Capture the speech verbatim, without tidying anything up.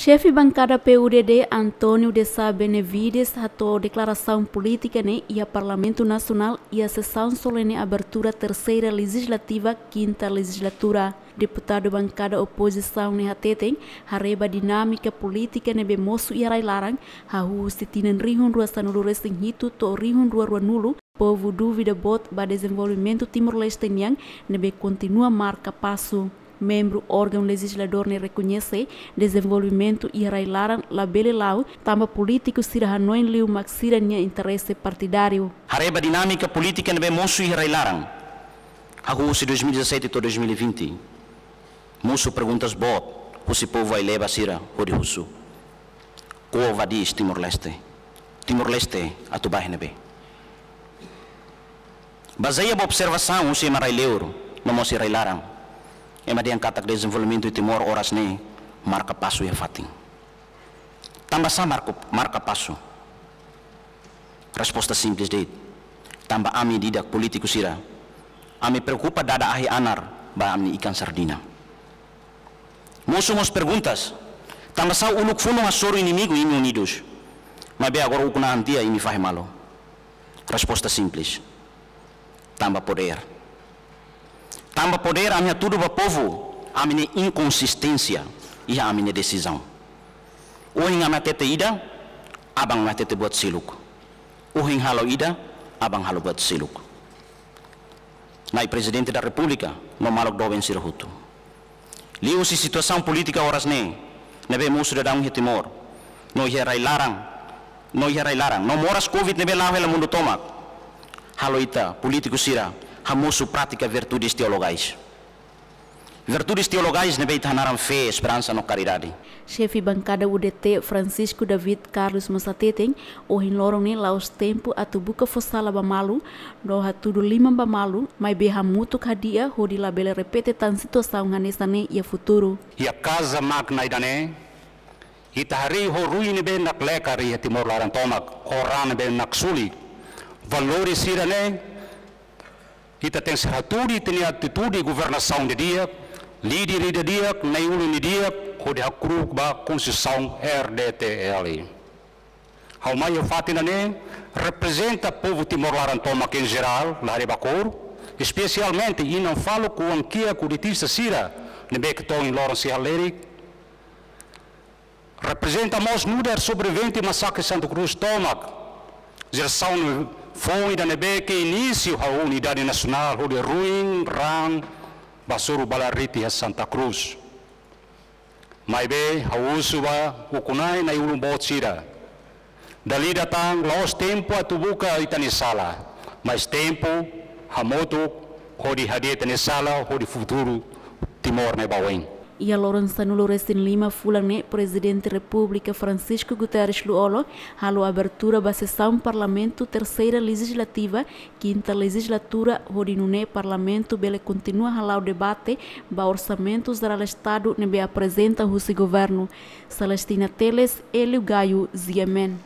Xefe bankada P U D D, António de Sá Benevides, hato'o deklarasaun polítika ne'e iha Parlamentu Nasionál iha sesaun solene abertura terseira lejizlativa, kinta lejizlatura. Deputadu bankada opozisaun ne'e hateten, haree ba dinámika polítika ne'ebé mosu iha rai-laran, hahú husi tinan rihun rua sanulu resin hitu to'o rihun rua rua nulu, povu dúvida boot ba dezenvolvimentu Timor-Leste nian, ne'ebé kontinua marka pasu. Membru órgaun lejizladór ne'e rekoñese, dezenvolvimentu iha rai-laran labele la'o, tanba polítiku sira hanoin liu mak sira-nia interese partidáriu. Haree ba dinámika polítika ne'ebé mosu iha rai-laran, hahú husi dois mil e dezassete to'o dois mil e vinte, mosu perguntas boot husi povu aileba sira hodi husu: Ko'alia ba di'ak Timor-Leste. Timor-Leste atu ba iha ne'ebé? Bazeia ba observasaun husi ema rai-liur no mós rai-laran, ema dehan katak dezenvolvimentu Timor oras ne'e marka pasu iha fatin. Tanba sá marka, marka pasu? Resposta simples de'it. Tanba ami ida-idak polítiku sira, ami preokupa dada ahi-anar ba ami ikan sardina. Mosu mós perguntas: tanba sá uluk funu hasoru inimigu imi unidus, maibé agora ukun-an tiha imi fahe malu? Resposta simples: tanba podér. Tanba podér, ami hatudu ba povu ami-nia inkonsisténsia iha ami-nia desizaun. Ohin ami hatete ida, aban ami hatete buat seluk. Ohin halo ida, aban halo buat seluk. Na'i Prezidente da Repúblika no maluk doben sira hotu, liuhusi situasaun polítika oras ne'e, ne'ebé mosu daudaun iha Timor, no iha rai-laran, no iha rai-laran, no moras Covid ne'ebé la'o hela mundu tomak, halo ita polítiku sira hamosu prátika virtudes teologais. Virtudes teologais ne'ebé ita hanaran fé, esperansa no karidade. Xefe bankada U D T, Francisco David Carlos mós hateten, ohin loron ne'e la'ós tempu atu buka fó sala ba malu, no hatudu liman ba malu, maibé hamutuk hadi'a hodi labele repete tan situasaun hanesan ne'e iha futuru. Iha kaza magna ida-ne'e, ita harii ho ruin ne'ebé naklekar iha Timor laran tomak, ho raan ne'ebé naksulik. Valores sira-ne'e, ita tenke hatudu ita-nia atitude governasaun didi'ak, líder ida di'ak, na'i-ulun ida di'ak, hodi hakru'uk ba Konstituisaun R D T L. Ha'u mai iha fatin ida-ne'e reprezenta povu Timor laran tomak em geral, la haree ba kór, espesialmente inan faluk, oan-kiak, kudetista sira ne'ebé ke to'o ohin loron sei halerik. Reprezenta mós nu'udar sobrevivente masakre Santa Cruz tomak, jerasaun foun ida ne'ebé ke inísiu halo unidade nasionál hodi ruin raan ba hasoru bala riti iha Santa Cruz. Maibé ha'u husu ba ukun-na'in, na'i-ulun boot sira, dala ida tan la'ós tempu atu buka ita-nia sala, mas tempu hamutuk hodi hadi'a ita-nia sala hodi futuru Timor ne'e ba oin. Iha loron sanulu resin lima fulan ne'e, Prezidente Repúblika Francisco Guterres Lú-Olo halo abertura ba sesaun Parlamentu Terseira Lejizlativa, Kinta Lejizlatura, hodi nune'e Parlamentu bele kontinua hala'o debate ba Orsamentu Jerál Estadu ne'ebé aprezenta husi Governu. Celestina Teles, Hélio Gaio, G M N.